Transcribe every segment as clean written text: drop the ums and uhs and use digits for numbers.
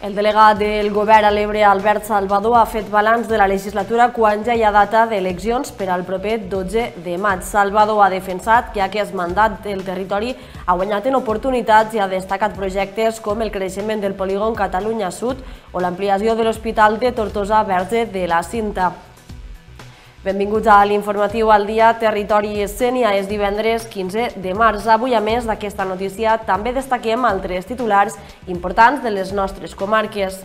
El delegat del govern a l'Ebre, Albert Salvador, ha fet balanç de la legislatura quan ja hi ha data d'eleccions per al proper 12 de maig. Salvador ha defensat que aquest mandat del territori ha guanyat en oportunitats i ha destacat projectes com el creixement del polígon Catalunya Sud o l'ampliació de l'Hospital de Tortosa Verge de la Cinta. Benvinguts a l'informatiu al dia Territori Sénia. És divendres 15 de març. Avui, a més d'aquesta notícia, també destaquem altres titulars importants de les nostres comarques.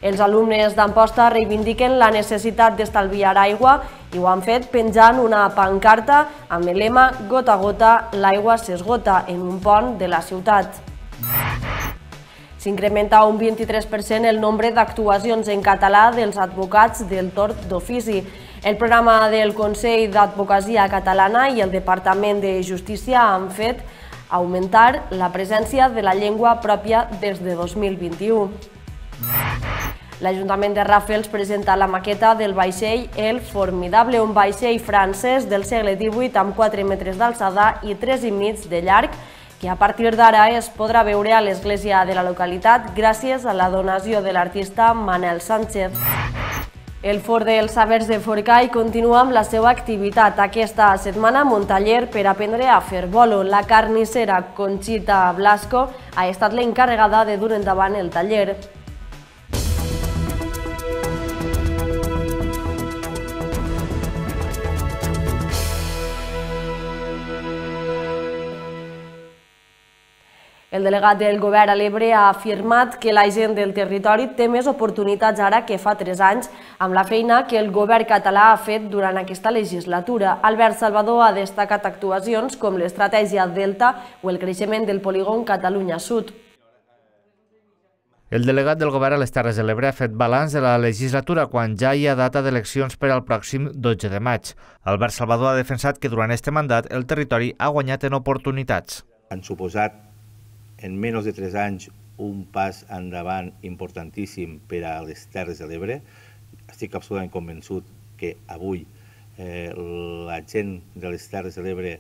Els alumnes d'Amposta reivindiquen la necessitat d'estalviar aigua i ho han fet penjant una pancarta amb el lema "Gota a gota, l'aigua s'esgota" en un pont de la ciutat. S'incrementa un 23% el nombre d'actuacions en català dels advocats del torn d'ofici. El programa del Consell d'Advocacia Catalana i el Departament de Justícia han fet augmentar la presència de la llengua pròpia des de 2021. L'Ajuntament de Ràfels presenta la maqueta del vaixell El Formidable, un vaixell francès del segle XVIII amb 4 metres d'alçada i 3,5 de llarg, que a partir d'ara es podrà veure a l'església de la localitat gràcies a la donació de l'artista Manel Sánchez. El Fort dels Sabers de Forcall continua amb la seva activitat. Aquesta setmana amb un taller per aprendre a fer bolo. La carnissera Conxita Blasco ha estat l'encarregada de dur endavant el taller. El delegat del govern a l'Ebre ha afirmat que la gent del territori té més oportunitats ara que fa 3 anys amb la feina que el govern català ha fet durant aquesta legislatura. Albert Salvador ha destacat actuacions com l'estratègia Delta o el creixement del polígon Catalunya Sud. El delegat del govern a les Terres de l'Ebre ha fet balanç de la legislatura quan ja hi ha data d'eleccions per al pròxim 12 de maig. Albert Salvador ha defensat que durant aquest mandat el territori ha guanyat en oportunitats. Han suposat en menys de 3 anys un pas endavant importantíssim per a les Terres de l'Ebre. Estic absolutament convençut que avui la gent de les Terres de l'Ebre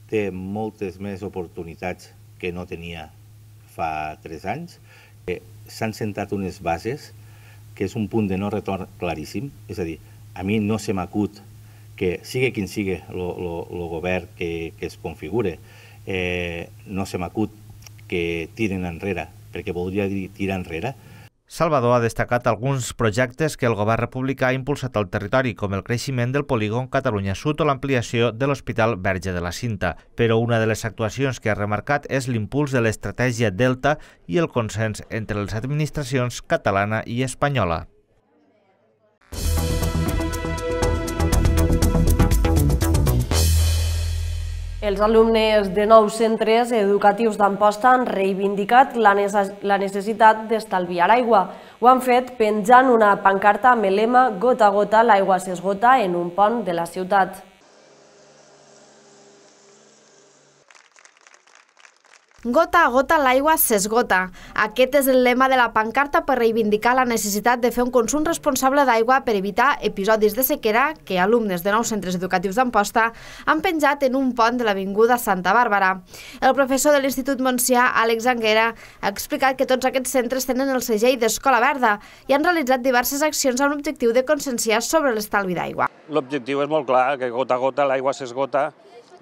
té moltes més oportunitats que no tenia fa 3 anys. S'han sentat unes bases que és un punt de no retorn claríssim. És a dir, a mi no se m'acut que sigui quin sigui el govern que es configure, no se m'acut que tiren enrere, perquè voldria dir tirar enrere. Salvador ha destacat alguns projectes que el govern republicà ha impulsat al territori, com el creixement del polígon Catalunya Sud o l'ampliació de l'Hospital Verge de la Cinta. Però una de les actuacions que ha remarcat és l'impuls de l'estratègia Delta i el consens entre les administracions catalana i espanyola. Els alumnes de 9 centres educatius d'Amposta han reivindicat la necessitat d'estalviar aigua. Ho han fet penjant una pancarta amb el lema "Gota a gota, l'aigua s'esgota" en un pont de la ciutat. Gota a gota l'aigua s'esgota. Aquest és el lema de la pancarta per reivindicar la necessitat de fer un consum responsable d'aigua per evitar episodis de sequera que alumnes de 9 centres educatius d'Amposta han penjat en un pont de l'avinguda Santa Bàrbara. El professor de l'Institut Montsià, Àlex Anguera, ha explicat que tots aquests centres tenen el segell d'Escola Verda i han realitzat diverses accions amb l'objectiu de conscienciar sobre l'estalvi d'aigua. L'objectiu és molt clar, que gota a gota l'aigua s'esgota,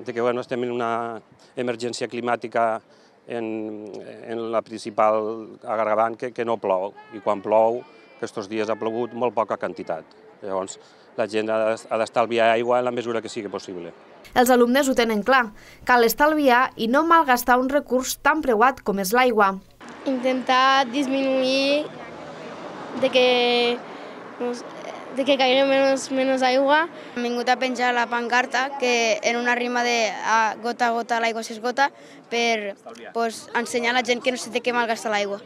que estem en una emergència climàtica en la principal agregant que no plou, i quan plou, aquests dies ha plogut molt poca quantitat. Llavors, la gent ha d'estalviar aigua en la mesura que sigui possible. Els alumnes ho tenen clar. Cal estalviar i no malgastar un recurs tan preuat com és l'aigua. Intentar disminuir de que caigui menys aigua. Hem vingut a penjar la pancarta que en una rima de gota a gota l'aigua s'esgota per ensenyar a la gent que no s'ha de malgastar l'aigua.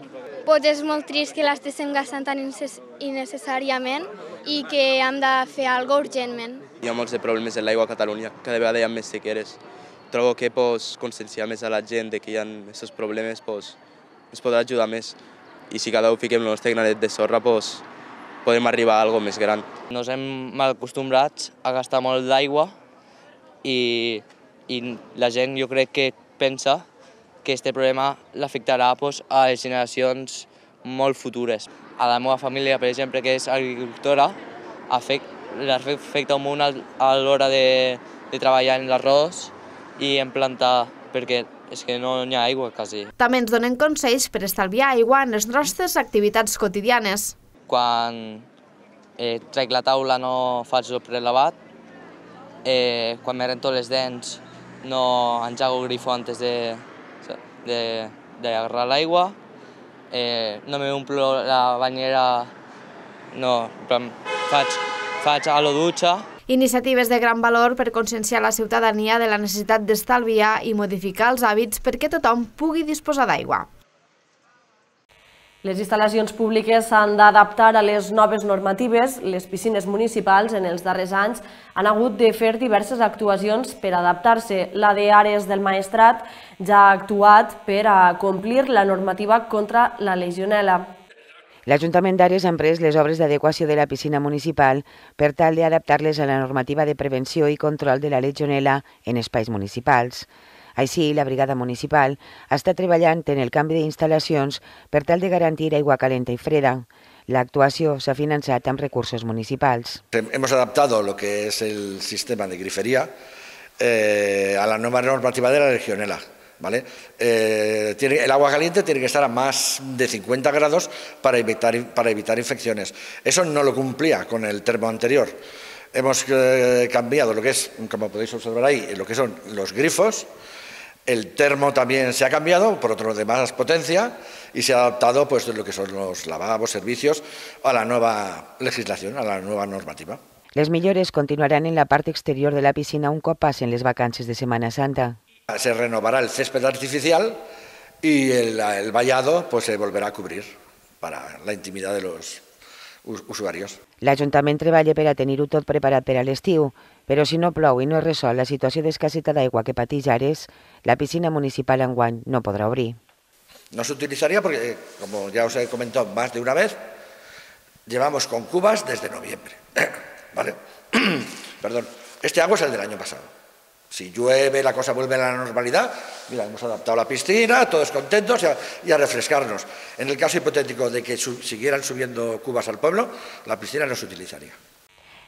Doncs és molt trist que l'estiguem gastant tan innecessàriament i que hem de fer alguna cosa urgentment. Hi ha molts problemes en l'aigua a Catalunya, cada vegada hi ha més sequeres. Trobo que conscienciar més a la gent que hi ha aquests problemes ens podrà ajudar més. I si cada un fiquem el nostre granet de sorra, podem arribar a alguna cosa més gran. Nos hem mal acostumbrats a gastar molt d'aigua i la gent jo crec que pensa que aquest problema l'afectarà a les generacions molt futures. A la meva família, per exemple, que és agricultora, afecta molt a l'hora de treballar en l'arròs i en plantar, perquè és que no hi ha aigua quasi. També ens donen consells per estalviar aigua en les nostres activitats quotidianes. Quan trec la taula no faig el prelavat, quan me rento les dents no engego el grifo antes d'agarrar l'aigua, no m'omplo la banyera, no, faig a la dutxa. Iniciatives de gran valor per conscienciar la ciutadania de la necessitat d'estalviar i modificar els hàbits perquè tothom pugui disposar d'aigua. Les instal·lacions públiques s'han d'adaptar a les noves normatives. Les piscines municipals en els darrers anys han hagut de fer diverses actuacions per adaptar-se. La d'Ares del Maestrat ja ha actuat per a complir la normativa contra la legionel·la. L'Ajuntament d'Ares ha emprès les obres d'adequació de la piscina municipal per tal d'adaptar-les a la normativa de prevenció i control de la legionel·la en espais municipals. Així, la brigada municipal està treballant en el canvi d'instal·lacions per tal de garantir aigua calenta i freda. L'actuació s'ha finançat amb recursos municipals. Hemos adaptado lo que es el sistema de grifería a la nueva normativa de la legionela. ¿Vale? El agua caliente tiene que estar a más de 50 grados para evitar infecciones. Eso no lo cumplía con el termo anterior. Hemos cambiado lo que es, como podéis observar ahí, lo que son los grifos. El termo también se ha cambiado por otro de más potencia y se ha adaptado pues lo que son los lavabos, servicios a la nueva legislación, a la nueva normativa. Les millores continuaran en la part exterior de la piscina un cop passen les vacances de Semana Santa. Se renovará el césped artificial y el vallado pues se volverá a cubrir para la intimidad de los usuarios. L'Ajuntament treballa per a tenir-ho tot preparat per a l'estiu, però si no plou i no es resol la situació d'escassetat d'aigua que pateix Ares, la piscina municipal enguany no podrà obrir. No se utilizaría porque, como ya os he comentado más de una vez, llevamos con cubas desde noviembre. ¿Vale? Perdón, este agua es el del año pasado. Si llueve, la cosa vuelve a la normalidad. Mira, hemos adaptado la piscina, todos contentos y a refrescarnos. En el caso hipotético de que siguieran subiendo cubas al pueblo, la piscina no se utilizaría.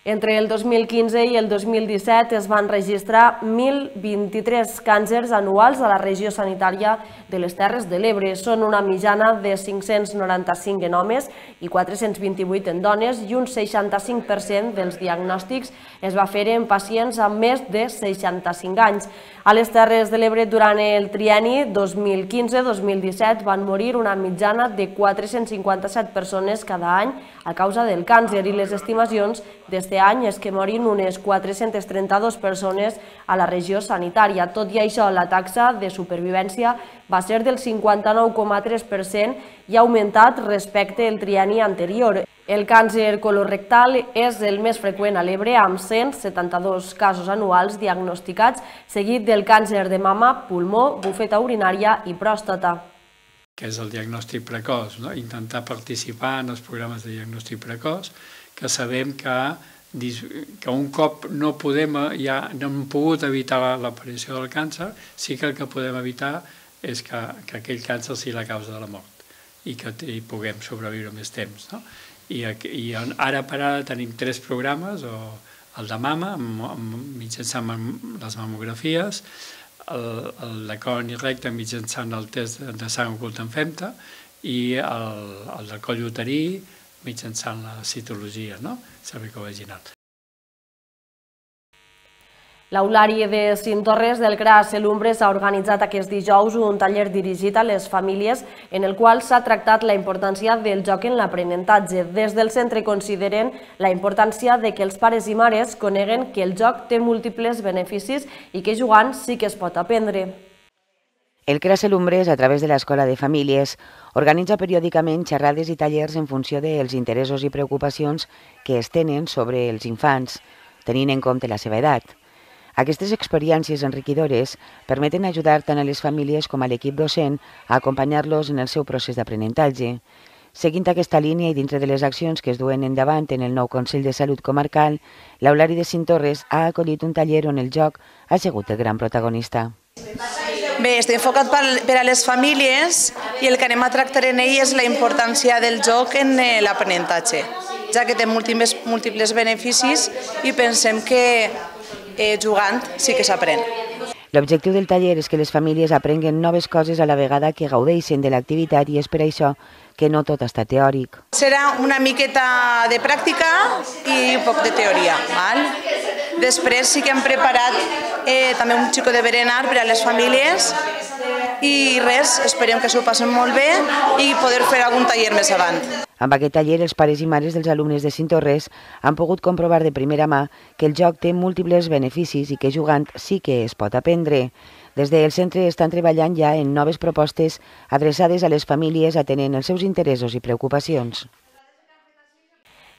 Entre el 2015 i el 2017 es van registrar 1.023 càncers anuals a la regió sanitària de les Terres de l'Ebre. Són una mitjana de 595 en homes i 428 en dones i un 65% dels diagnòstics es va fer en pacients amb més de 65 anys. A les Terres de l'Ebre, durant el trienni 2015-2017, van morir una mitjana de 457 persones cada any a causa del càncer i les estimacions d'este any és que morin unes 432 persones a la regió sanitària. Tot i això, la taxa de supervivència va ser del 59,3% i ha augmentat respecte al trienni anterior. El càncer colorectal és el més freqüent a l'Ebre, amb 172 casos anuals diagnosticats, seguit del càncer de mama, pulmó, bufeta urinària i pròstata. Que és el diagnòstic precoç, intentar participar en els programes de diagnòstic precoç, que sabem que un cop no hem pogut evitar l'aparició del càncer, sí que el que podem evitar és que aquell càncer sigui la causa de la mort i que hi puguem sobreviure més temps. I ara per ara tenim 3 programes, el de mama, mitjançant les mamografies, el de colon i recte mitjançant el test de sang ocult en femta i el del coll uterí mitjançant la citologia cervicovaginal. L'Aulari de Cinctorres del CRA Selumbres ha organitzat aquest dijous un taller dirigit a les famílies en el qual s'ha tractat la importància del joc en l'aprenentatge. Des del centre consideren la importància de que els pares i mares coneguen que el joc té múltiples beneficis i que jugant sí que es pot aprendre. El CRA Selumbres, a través de l'Escola de Famílies, organitza periòdicament xerrades i tallers en funció dels interessos i preocupacions que es tenen sobre els infants, tenint en compte la seva edat. Aquestes experiències enriquidores permeten ajudar tant a les famílies com a l'equip docent a acompanyar-los en el seu procés d'aprenentatge. Seguint aquesta línia i dintre de les accions que es duen endavant en el nou Consell de Salut Comarcal, l'Aulari de Cinctorres ha acollit un taller on el joc ha sigut el gran protagonista. Bé, està enfocat per a les famílies i el que anem a tractar en ell és la importància del joc en l'aprenentatge, ja que té múltiples beneficis i pensem que jugant sí que s'aprèn. L'objectiu del taller és que les famílies aprenguen noves coses a la vegada que gaudeixen de l'activitat i és per això que no tot està teòric. Serà una miqueta de pràctica i un poc de teoria. Després sí que hem preparat també un xico de berenar per a les famílies i res, esperem que s'ho passen molt bé i poder fer algun taller més avant. Amb aquest taller, els pares i mares dels alumnes de Cinctorres han pogut comprovar de primera mà que el joc té múltiples beneficis i que jugant sí que es pot aprendre. Des del centre estan treballant ja en noves propostes adreçades a les famílies atenent els seus interessos i preocupacions.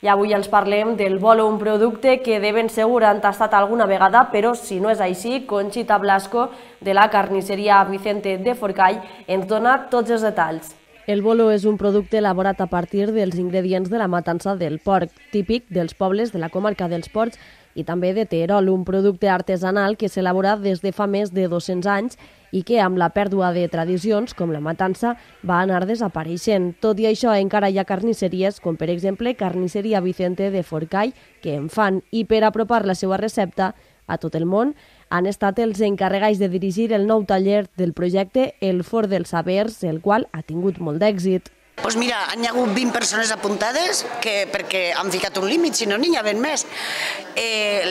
I avui els parlem del bolo, un producte que de ben segur han tastat alguna vegada, però si no és així, Conxita Blasco, de la carnisseria Vicente de Forcall, ens dona tots els detalls. El bolo és un producte elaborat a partir dels ingredients de la matança del porc, típic dels pobles de la comarca dels Ports i també de Terol, un producte artesanal que s'elabora des de fa més de 200 anys i que amb la pèrdua de tradicions com la matança va anar desapareixent. Tot i això encara hi ha carnisseries com per exemple Carnisseria Vicente de Forcall que en fan i per apropar la seva recepta a tot el món han estat els encarregats de dirigir el nou taller del projecte El Forn dels Sabers, el qual ha tingut molt d'èxit. Doncs mira, hi ha hagut 20 persones apuntades perquè han ficat un límit, si no n'hi havia més.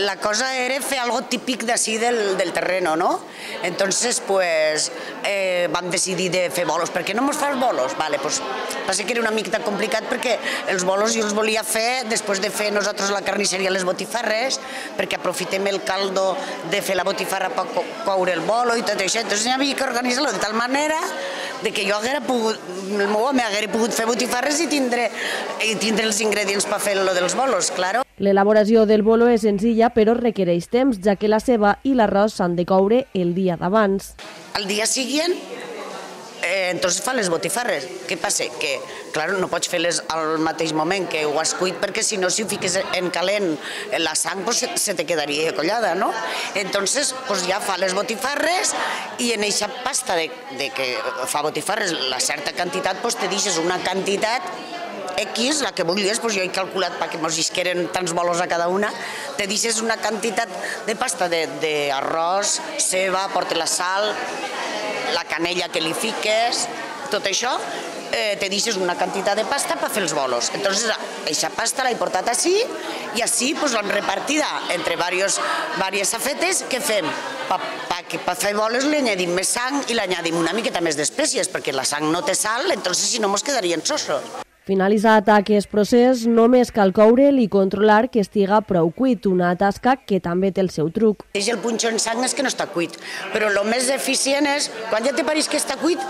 La cosa era fer algo típic d'ací del terreno, ¿no? Entonces, pues, vam decidir de fer bolos. Per què no mos fas bolos? Vale, pues, passa que era una mica complicat perquè els bolos jo els volia fer després de fer nosaltres la carnisseria les botifarres, perquè aprofitem el caldo de fer la botifarra per coure el bolo i tot això. Entonces, hi havia que organitzar-lo de tal manera de que jo haguera pogut, el meu home haguera pogut fer botifarres i tindre els ingredients per fer lo dels bolos, claro. L'elaboració del bolo és senzilla però requereix temps, ja que la ceba i l'arròs s'han de coure el dia d'abans. Al dia següent, entonces fa les botifarres. Què passa? Que, claro, no pots fer-les al mateix moment que ho has cuit, perquè si no, si ho fiques en calent la sang, pues se te quedaria collada, ¿no? Entonces, pues ja fa les botifarres i en eixa pasta de que fa botifarres la certa quantitat, pues te deixes una quantitat X, la que vulguis, doncs jo he calculat perquè mos llisqueren tants bolos a cada una, te deixes una quantitat de pasta d'arròs, ceba, porta la sal, la canella que li fiques, tot això, te deixes una quantitat de pasta per fer els bolos. Entonces, aquesta pasta l'he portat així i així l'hem repartida entre diverses safetes. Què fem? Per fer bolos li añadim més sang i li añadim una miqueta més d'espècies, perquè la sang no té sal, entonces si no mos quedarien sossos. Finalitzat aquest procés, només cal coure'l i controlar que estiga prou cuit, una tasca que també té el seu truc. El punxó en sang és que no està cuit, però el més eficient és, quan ja te pareix que està cuit,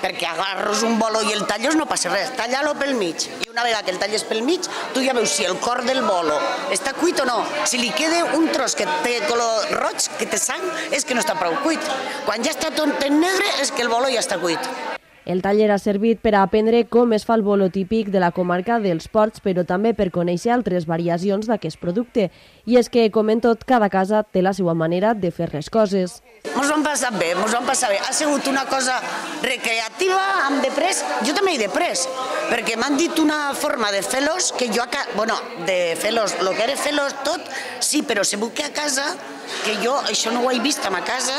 perquè agarres un bolo i el talles no passa res, talla-lo pel mig. I una vegada que el talles pel mig, tu ja veus si el cor del bolo està cuit o no. Si li queda un tros que té color roig, que té sang, és que no està prou cuit. Quan ja està tot en negre, és que el bolo ja està cuit. El taller ha servit per a aprendre com es fa el bolo típic de la comarca dels Ports, però també per conèixer altres variacions d'aquest producte. I és que, com en tot, cada casa té la seva manera de fer les coses. Mos ho hem passat bé, Ha sigut una cosa recreativa, hem després, jo també he després, perquè m'han dit una forma de fer-los que jo, de fer-los, el que era fer-los tot, sí, però segur que a casa, que jo això no ho he vist a ma casa,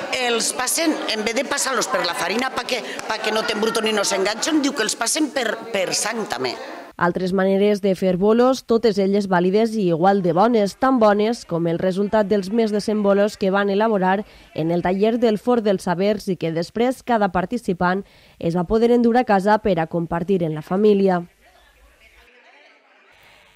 els passen, en vez de passar-los per la farina perquè no t'embruton i no s'enganxen, diu que els passen per sang també. Altres maneres de fer bolos, totes elles vàlides i igual de bones, tan bones com el resultat dels més de 100 bolos que van elaborar en el taller del Forn dels Sabers i que després cada participant es va poder endur a casa per a compartir en la família.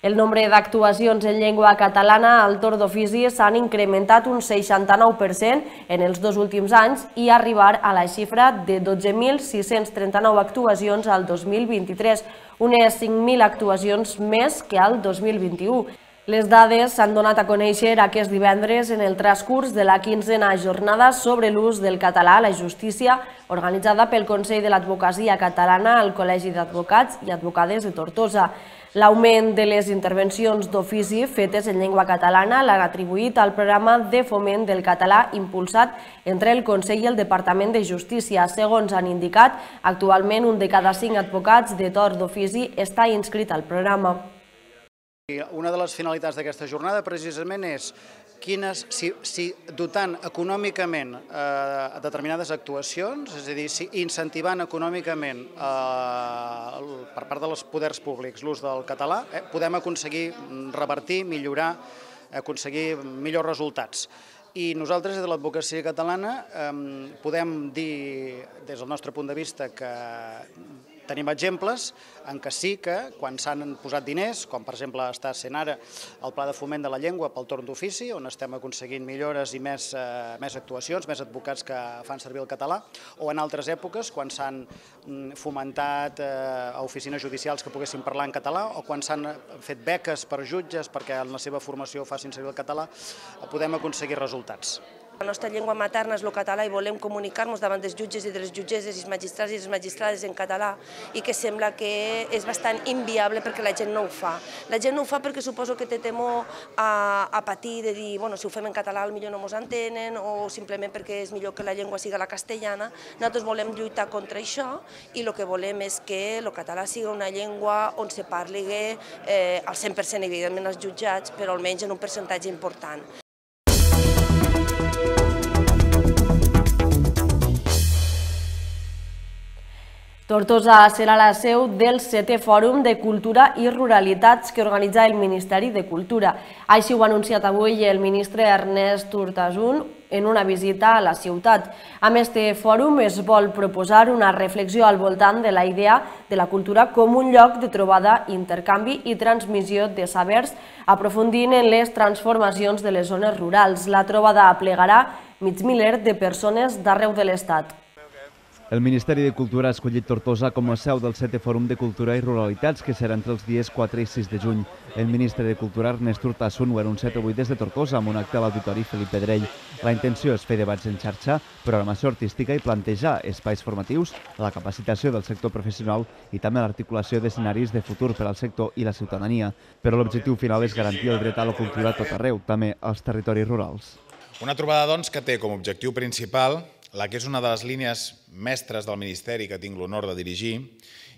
El nombre d'actuacions en llengua catalana al torn d'ofici s'han incrementat un 69% en els 2 últims anys i arribar a la xifra de 12.639 actuacions al 2023, unes 5.000 actuacions més que al 2021. Les dades s'han donat a conèixer aquest divendres en el transcurs de la 15a jornada sobre l'ús del català a la justícia, organitzada pel Consell de l'Advocacia Catalana al Col·legi d'Advocats i Advocades de Tortosa. L'augment de les intervencions d'ofici fetes en llengua catalana l'han atribuït al programa de foment del català impulsat entre el Consell i el Departament de Justícia. Segons han indicat, actualment un de cada 5 advocats de torn d'ofici està inscrit al programa. Una de les finalitats d'aquesta jornada precisament és si dotant econòmicament determinades actuacions, és a dir, incentivant econòmicament per part dels poders públics l'ús del català, podem aconseguir revertir, millorar, aconseguir millors resultats. I nosaltres, des de l'advocacia catalana, podem dir, des del nostre punt de vista, que tenim exemples en què sí que, quan s'han posat diners, com per exemple està sent ara el Pla de Foment de la Llengua pel torn d'ofici, on estem aconseguint millores i més actuacions, més advocats que fan servir el català, o en altres èpoques, quan s'han fomentat a oficines judicials que poguessin parlar en català, o quan s'han fet beques per jutges perquè en la seva formació facin servir el català, podem aconseguir resultats. La nostra llengua materna és el català i volem comunicar-nos davant dels jutges i de les jutgesses i els magistrats i les magistrades en català i que sembla que és bastant inviable perquè la gent no ho fa. La gent no ho fa perquè suposo que té temor a patir de dir, bueno, si ho fem en català potser no ens entenen o simplement perquè és millor que la llengua sigui la castellana. Nosaltres volem lluitar contra això i el que volem és que el català sigui una llengua on se parli al 100%, evidentment, als jutjats, però almenys en un percentatge important. Tortosa serà la seu del 7è Fòrum de Cultura i Ruralitats que organitza el Ministeri de Cultura. Així ho ha anunciat avui el ministre Ernest Urtasun en una visita a la ciutat. Amb este fòrum es vol proposar una reflexió al voltant de la idea de la cultura com un lloc de trobada, intercanvi i transmissió de sabers, aprofundint en les transformacions de les zones rurals. La trobada aplegarà mig miler de persones d'arreu de l'Estat. El Ministeri de Cultura ha escollit Tortosa com a seu del 7è Fòrum de Cultura i Ruralitats, que serà entre els dies 4 i 6 de juny. El ministre de Cultura, Ernest Urtasun, ho ha anunciat avui des de Tortosa amb un acte a l'Auditori Felip Pedrell. La intenció és fer debats en xarxa, programació artística i plantejar espais formatius, la capacitació del sector professional i també l'articulació d'escenaris de futur per al sector i la ciutadania. Però l'objectiu final és garantir el dret a la cultura a tot arreu, també als territoris rurals. Una trobada, doncs, que té com a objectiu principal la que és una de les línies mestres del Ministeri que tinc l'honor de dirigir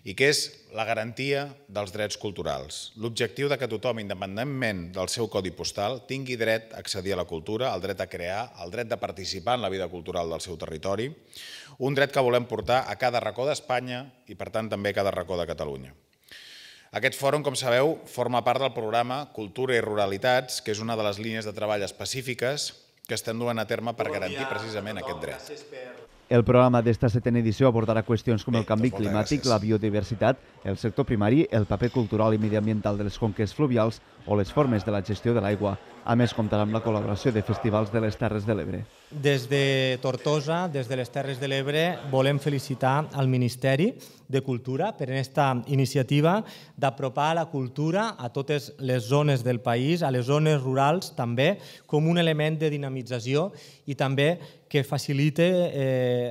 i que és la garantia dels drets culturals. L'objectiu de que tothom, independentment del seu codi postal, tingui dret a accedir a la cultura, el dret a crear, el dret de participar en la vida cultural del seu territori, un dret que volem portar a cada racó d'Espanya i, per tant, també a cada racó de Catalunya. Aquest fòrum, com sabeu, forma part del programa Cultura i Ruralitats, que és una de les línies de treball específiques que estem duent a terme per garantir precisament aquest dret. El programa d'esta 7a edició abordarà qüestions com el canvi climàtic, la biodiversitat, el sector primari, el paper cultural i mediambiental de les conques fluvials o les formes de la gestió de l'aigua. A més, comptarà amb la col·laboració de festivals de les Terres de l'Ebre. Des de Tortosa, des de les Terres de l'Ebre, volem felicitar al Ministeri de Cultura per aquesta iniciativa d'apropar la cultura a totes les zones del país, a les zones rurals també, com un element de dinamització i també que facilite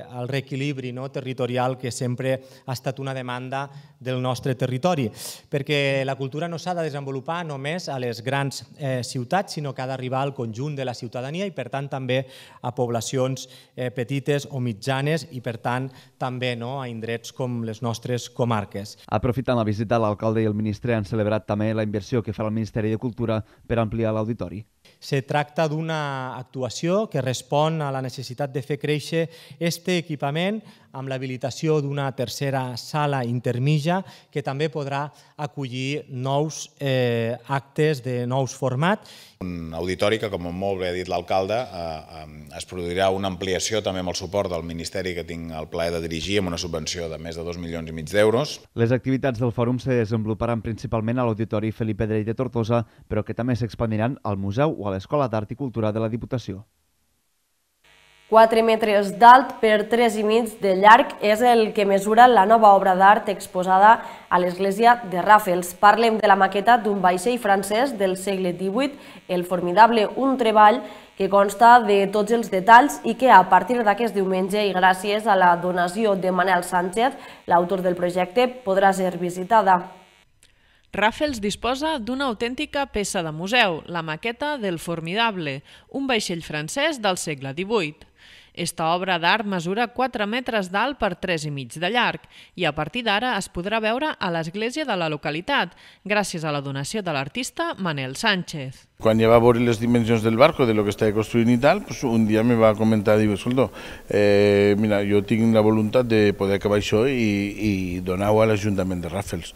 el reequilibri territorial que sempre ha estat una demanda del nostre territori, perquè la cultura no s'ha de desenvolupar només a les grans ciutats, sinó que ha d'arribar al conjunt de la ciutadania i, per tant, també a poblacions petites o mitjanes i, per tant, també a indrets com les nostres comarques. Aprofitant la visita, l'alcalde i el ministre han celebrat també la inversió que farà el Ministeri de Cultura per ampliar l'auditori. Se tracta d'una actuació que respon a la necessitat de fer créixer aquest equipament amb l'habilitació d'una tercera sala intermitja que també podrà acollir nous actes de nous formats. Un auditori que, com molt bé ha dit l'alcalde, es produirà una ampliació també amb el suport del Ministeri que tinc el plaer de dirigir amb una subvenció de més de 2,5 milions d'euros. Les activitats del fòrum se desenvoluparan principalment a l'Auditori Felip Pedrell de Tortosa, però que també s'expandiran al Museu o a l'Escola d'Art i Cultura de la Diputació. 4 metres d'alt per 3,5 de llarg és el que mesura la nova obra d'art exposada a l'església de Ràfels. Parlem de la maqueta d'un vaixell francès del segle XVIII, el formidable Un Treball, que consta de tots els detalls i que a partir d'aquest diumenge i gràcies a la donació de Manel Sánchez, l'autor del projecte, podrà ser visitada. Raffles disposa d'una autèntica peça de museu, la maqueta del Formidable, un vaixell francès del segle XVIII. Esta obra d'art mesura 4 metres d'alt per 3,5 de llarg i a partir d'ara es podrà veure a l'església de la localitat, gràcies a la donació de l'artista Manel Sánchez. Quan ja va veure les dimensions del barco, de lo que estava construint i tal, un dia me va comentar, diu, escolta, mira, jo tinc la voluntat de poder acabar això i donar-ho a l'Ajuntament de Raffles.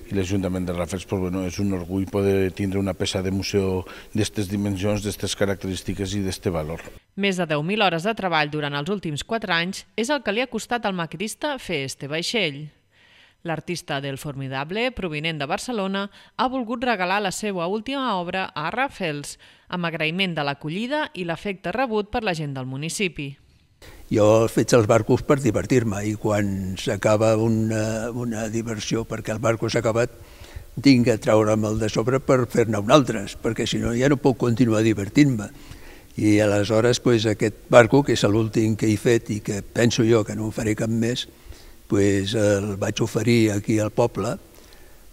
I l'Ajuntament de Raffles és un orgull poder tindre una peça de museu d'aquestes dimensions, d'aquestes característiques i d'aquest valor. Més de 10.000 hores de treball durant els últims 4 anys és el que li ha costat al maquetista fer este vaixell. L'artista del Formidable, provinent de Barcelona, ha volgut regalar la seva última obra a Raffles, amb agraïment de l'acollida i l'afecte rebut per la gent del municipi. Jo faig els barcos per divertir-me i quan s'acaba una diversió perquè el barco s'ha acabat tinc que treure'm de sobre per fer-ne un altre, perquè si no ja no puc continuar divertint-me. I aleshores aquest barco, que és l'últim que he fet i que penso jo que no en faré cap més, el vaig oferir aquí al poble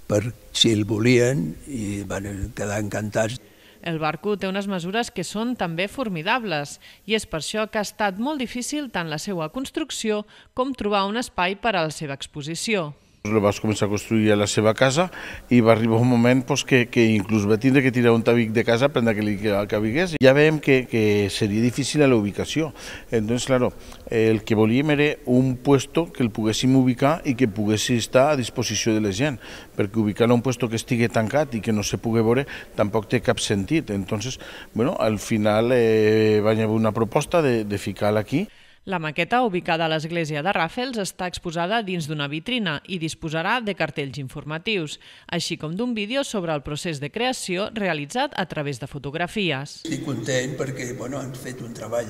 per si el volien i van quedar encantats. El barco té unes mesures que són també formidables i és per això que ha estat molt difícil tant la seva construcció com trobar un espai per a la seva exposició. El vaig començar a construir a la seva casa i va arribar un moment que inclús va tindre que tirar un tabic de casa per que li cabigués. Ja veiem que seria difícil a la ubicació. Entonces, claro, el que volíem era un puesto que el poguéssim ubicar i que pogués estar a disposició de la gent, perquè ubicar-lo a un puesto que estigui tancat i que no se pugui veure tampoc té cap sentit. Entonces, bueno, al final va haver una proposta de ficar-la aquí. La maqueta, ubicada a l'església de Raffles, està exposada dins d'una vitrina i disposarà de cartells informatius, així com d'un vídeo sobre el procés de creació realitzat a través de fotografies. Estic content perquè han fet un treball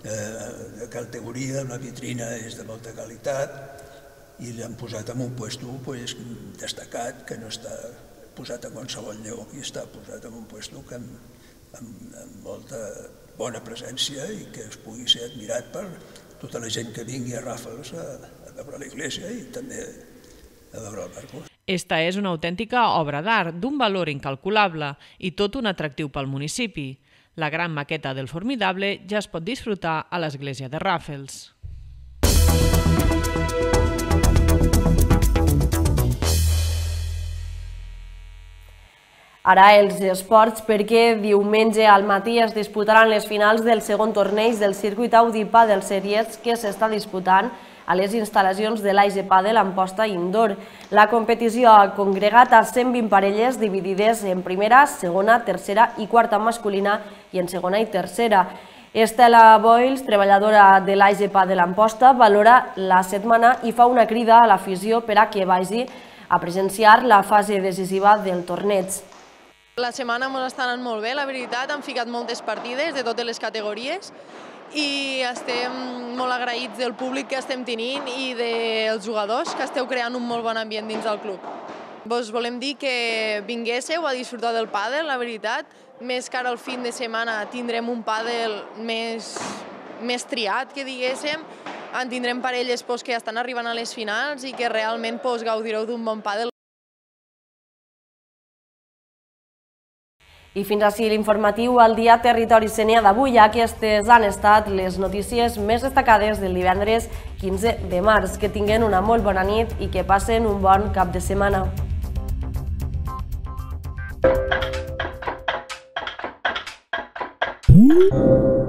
de categoria, la vitrina és de molta qualitat i l'han posat en un puesto destacat, que no està posat a qualsevol lloc i està posat en un puesto amb molta bona presència i que es pugui ser admirat per tota la gent que vingui a Raffles a veure l'església i també a veure el barco. Esta és una autèntica obra d'art d'un valor incalculable i tot un atractiu pel municipi. La gran maqueta del Formidable ja es pot disfrutar a l'església de Raffles. Ara els esports, perquè diumenge al matí es disputaran les finals del segon torneig del circuit Audi Padel Series que s'està disputant a les instal·lacions de l'AIG Padel Amposta Indoor. La competició ha congregat a 120 parelles dividides en primera, segona, tercera i quarta masculina i en segona i tercera. Estela Boyles, treballadora de l'AIG Padel Amposta, valora la setmana i fa una crida a l'afició per a que vagi a presenciar la fase decisiva del torneig. La setmana ens està anant molt bé, la veritat, han ficat moltes partides de totes les categories i estem molt agraïts del públic que estem tenint i dels jugadors que esteu creant un molt bon ambient dins del club. Vos volem dir que vinguéssiu a disfrutar del pàdel, la veritat, més que ara al fin de setmana tindrem un pàdel més triat, que diguéssim, en tindrem parelles que estan arribant a les finals i que realment gaudireu d'un bon pàdel. I fins així l'informatiu al dia Territori Sénia d'avui. Aquestes han estat les notícies més destacades del divendres 15 de març. Que tinguin una molt bona nit i que passen un bon cap de setmana. Mm-hmm.